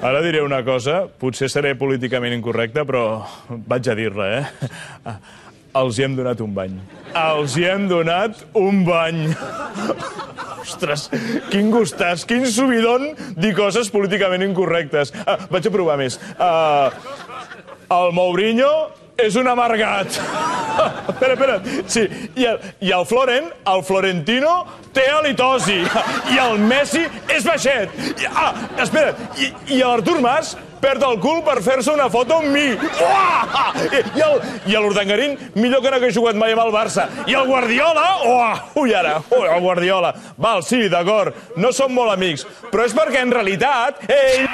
Ara diré una cosa, potser seré políticament incorrecte, però vaig a dir-la, eh? Els hi hem donat un bany. Els hi hem donat un bany. Ostres, quin gustàs, quin subidon dir coses políticament incorrectes. Vaig a provar més. El Mourinho és un amargat. Espera. Sí, i el Florentino, té halitosi. I el Messi és baixet. Espera, i l'Artur Mas perd el cul per fer-se una foto amb mi. I l'Urdangarín, millor que no hagués jugat mai amb el Barça. I el Guardiola, el Guardiola. Val, sí, d'acord, no som molt amics, però és perquè en realitat ell...